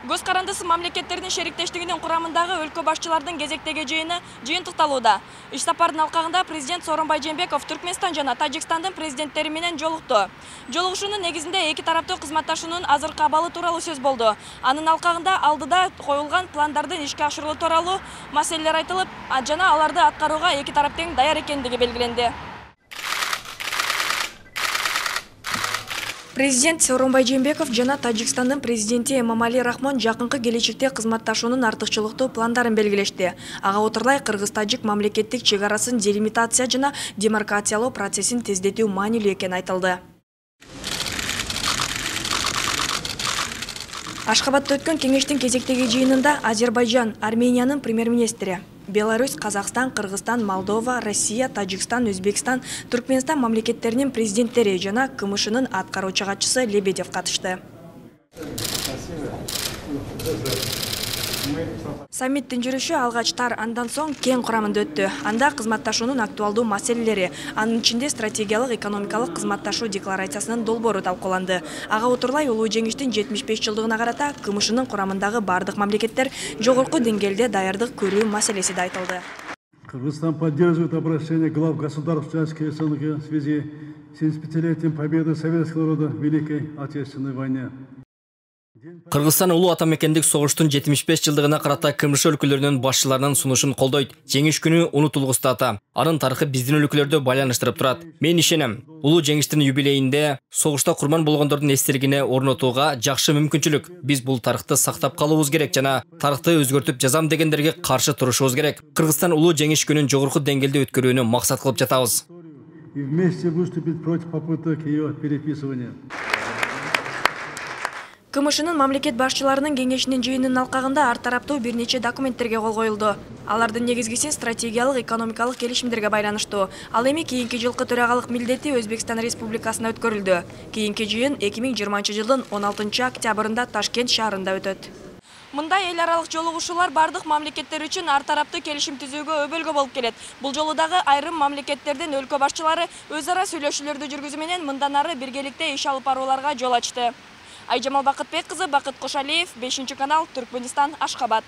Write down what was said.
Көз карандысы мамлекеттердин шериктештигинин курамындагы өлкө башчылардын кезектеги жыйыны жыйынтыкталууда. Иш сапардын алкагында президент Сооронбай Жээнбеков Түркмөнстан жана Тажикстандын президенттери менен жолукту. Жолугушуунун негизинде эки тараптуу кызматташуунун азыркы абалы тууралуу сөз болду. Анын алкагында алдыда коюлган пландардын ишке ашырылуу тууралуу маселелер айтылып, жана аларды аткарууга эки тарап тең даяр экендиги белгиленди. Президент Сооронбай Жээнбеков жана Тажикстандын президенти Эмомали Рахмон жакынкы келечекте кызматташуунун артыкчылыктуу пландарын белгилешти. Ага отурлай кыргыз-тажик мамлекеттик чек арасын делимитация жана демаркациялоо процессин тездетүү маанилүү экени айтылды. Ашхабадда өткөн кеңештин кезектеги жыйынында Азербайжан, Армениянын премьер-министри, Беларусь, Казакстан, Кыргызстан, Молдова, Россия, Тажикстан, Өзбекстан, Түркмөнстан мамлекеттеринин президенттери жана КМШнын аткаруучу катчысы Лебедев катышты. Саммиттин жүрүшү алгач тар, андан соң кең курамында өттү. Анда кызматташуунун актуалдуу маселелери, анын ичинде стратегиялык экономикалык кызматташуу декларациясынын долбоору талкууланды. Ага отурлай улуу жеңиштин 75 жылдыгына карата КМШнын курамындагы бардык мамлекеттер жогорку деңгээлде даярдык көрүү маселеси да айтылды. Кыргызстан поддерживает обращение глав государств членских СНГ в связи с 75-летием победы советского народа в Великой Отечественной войне. Кыргызстан улуу атамекендик согуштун 75 жылдыгына карата КМШ өлкөлөрүнүн башчыларынын сунушун колдойт. Жеңиш күнү унутулгус дата. Анын тарыхы биздин өлкөлөрдө байланыштырып турат. Мен ишенем, улуу жеңиштин юбилейинде согушта курман болгондордун эстелигине орнотууга жакшы мүмкүнчүлүк. Биз бул тарыхты сактап калуубуз керек жана тарыхты өзгөртүп жазам дегендерге каршы турушубуз керек. Кыргызстан улуу жеңиш күнүн жогорку деңгээлде өткөрүүнү максат кылып жатабыз. И вместе выступить против попыток ее переписывания. КМШнын мамлекет башчыларынын кеңешинин жыйынынын алкагында ар тараптуу бир нече документтерге кол коюлду. Алардын негизгиси стратегиялык экономикалык келишимдерге байланыштуу. Ал эми кийинки жылкы төрагалык милдети Өзбекстан Республикасына өткөрүлдү. Кийинки жыйын 2020 жылдын 16 октябрында Ташкент шаарында өтөт. Мындай эл аралык жолугушуулар бардык мамлекеттер үчүн ар тараптуу келишим түзүүгө өбөлгө болуп келет. Бул жолу дагы айрым мамлекеттердин өлкө башчылары өз ара сүйлөшүүлөрдү жүргүзүү менен мындан ары биргеликте иш алып барууларга жол ачты. Айжамал Бакытбек кызы, Бакыт Кошалиев, 5-канал, Түркмөнстан, Ашхабад.